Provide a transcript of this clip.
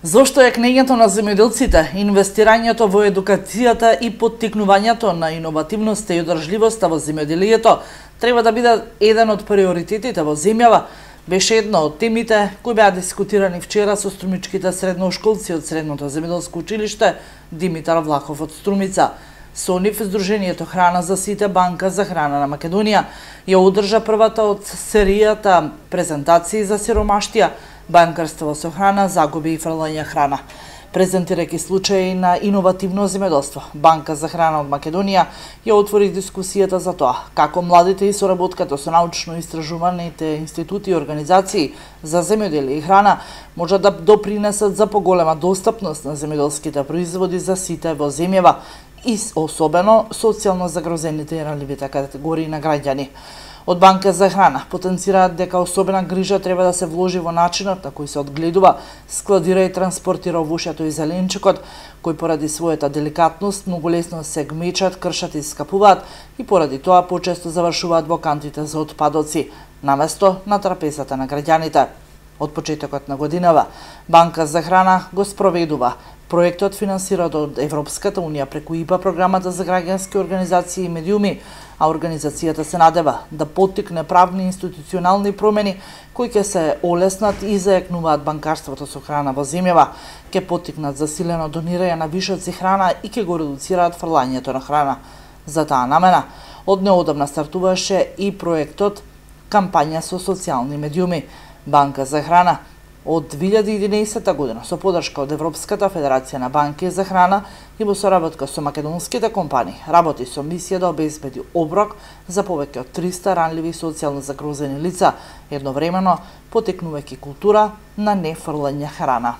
Зошто е кнењето на земјоделците, инвестирањето во едукацијата и поттикнувањето на иновативноста и одржливоста во земјоделието треба да биде еден од приоритетите во земјава, беше една од темите кои беа дискутирани вчера со струмичките средношколци од Средното земјоделско училиште Димитар Влахов од Струмица. Со нив Сдруженијето Храна за сите, Банка за храна на Македонија ја одржа првата од серијата презентации за сиромаштија, банкарство со храна, загуби и фрлање храна. Презентирајќи случаи на иновативно земјоделство, Банка за храна од Македонија ја отвори дискусијата за тоа како младите и соработката со научно-истражуваните институти и организации за земјоделие и храна можат да допринесат за поголема достапност на земјоделските производи за сите во земјава и особено социјално загрозените и ранливите категории на граѓани. Од Банка за храна потенцираат дека особена грижа треба да се вложи во начинот на кој се одгледува, складира и транспортира овошјето и зеленчукот, кои поради својата деликатност многу лесно се гмечат, кршат и скапуваат и поради тоа почесто завршуваат во кантите за отпадоци, наместо на трапезата на граѓаните. Од почетокот на годинава, Банка за храна го спроведува проектот финансиран од Европската Унија преку ИПА програмата за граѓански организации и медиуми, а организацијата се надева да поттикне правни и институционални промени кои ќе се олеснат и зајакнуваат банкарството со храна во земјава, ќе поттикнат засилено донирање на вишоци храна и ќе го редуцираат фрлањето на храна. За таа намена, од неодамна стартуваше и проектот кампања со социјални медиуми. Банка за храна од 2011 година со поддршка од Европската федерација на банки за храна и во соработка со македонските компании работи со мисија да обезбеди оброк за повеќе од 300 ранливи социјално загрозени лица, едновремено поттикнувајќи култура на нефрлање храна.